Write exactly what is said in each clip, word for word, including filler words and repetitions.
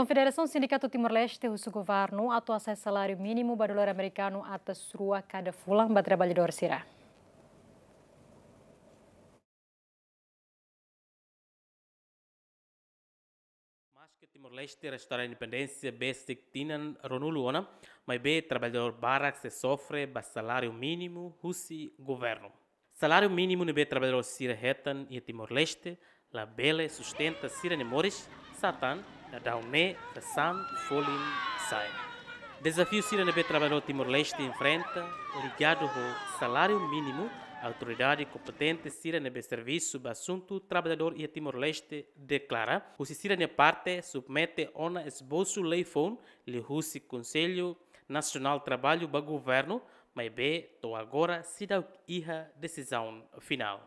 Federasaun Sindikatu Timor-Leste husu governu atu hasa'e saláriu mínimu ba dolar amerikanu atus rua kada fulan ba traballadór sira. Maske Timor-Leste restaura independénsia besik tinan ruanulu ona, maibé traballadór barak sei sofre ba saláriu mínimu husi governu. Saláriu mínimu ne'ebé traballadór sira hetan iha Timor-Leste labele sustenta sira-nia moris, satán daudaun ne'e sasán folin sa'e. Dezafiu sira ne'ebé traballadór Timor-Leste enfrenta ligadu ho saláriu mínimu, autoridade kompetente sira ne'ebé servisu ba asuntu traballadór iha Timor-Leste deklara, husi sira-nia parte submete ona esbosu lei foun liuhusi Konsellu Nasionál Traballu ba governu, maibé to'o agora seidauk iha desizaun finál.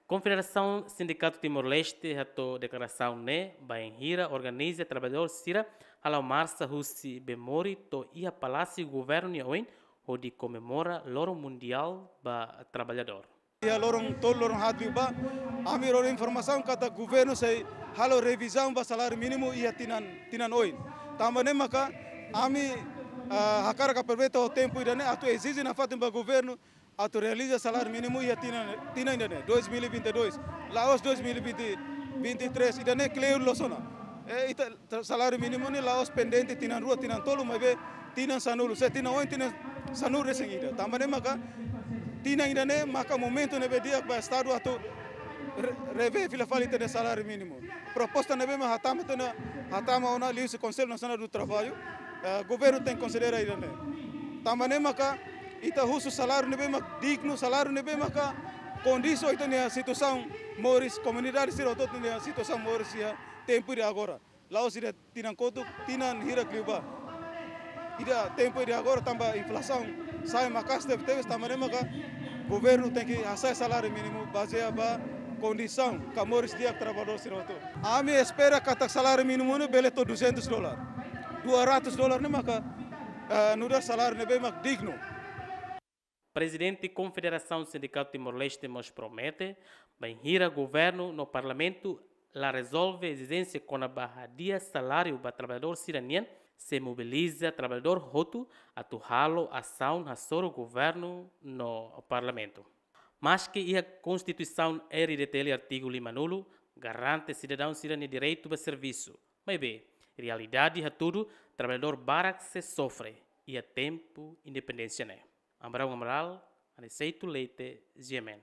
Konfederasaun Sindikatu Timor-Leste hato'o deklarasaun ne'e bainhira organiza traballadór sira hala'o marsa husi Bemori to'o iha Palásiu Governu nia oin, hodi komemora Loron Mundiál ba Traballadór. Iha loron tolu, loron haat liubá, ami rona informasaun katak governu sei halo revizaun ba saláriu mínimu iha tinan, tinan oin. Tanba ne'e maka ami, ah, hakarak aproveita tempu ida-ne'e atu ezije nafatin ba governu atu realiza saláriu mínimu iha tinan, tinan ida-ne'e, dois mil e vinte e dois. La'ós dois mil e vinte, vinte e três, ida-ne'e kleur loos ona. E ita tra-, saláriu mínimu ne'e la'ós pendente tinan rua, tinan tolu, maibé tinan sanulu. Se tinan oin, tinan sanulu-resin-ida. Tanba ne'e maka tinan ida-ne'e maka momentu ne'ebé di'ak ba Estadu atu re-, revee fila fali ita-nia saláriu mínimu. Proposta ne'ebé mak hatama tiha ona, hatama ona liuhusi Konsellu Nasionál do Traballu, eh, governu tenke konsidera ida-ne'e. Tanba ne'e maka ita husu saláriu ne'ebé mak dignu, saláriu ne'ebé maka kondiz ho ita-nia situasaun moris, komunidade sira hotu nia situasaun moris iha tempu ida agora. La'ós ida tinan kotuk, tinan hirak liubá. Ida tempu ida agora tanba inflasaun sa'e maka'as tebetebes, tanba ne'e maka governu tenke hasa'e saláriu mínimu bazeia ba kondisaun ka moris di'ak traballadór sira hotu. Ami espera katak saláriu mínimu ne'e bele to'o duzentos dólar. Dua ratus dólar ne'e maka, eh, nu'udar saláriu ne'ebé mak dignu. Prezidente Konfederasaun Sindikatu Timor-Leste mós promete, bainhira governu no parlamentu la rezolve ezijénsia kona-ba hadi'a saláriu ba traballadór sira-nian, sei mobiliza traballadór hotu atu halo asaun hasoru governu no parlamentu. Maske iha Konstituisaun R D T L artigu limanulu garante sidadaun sira-nia direitu ba servisu, maibé realidade hatudu traballadór barak sei sofre iha tempu independénsia ne'e. Abraão Amaral, Aniceto Leite, G M N.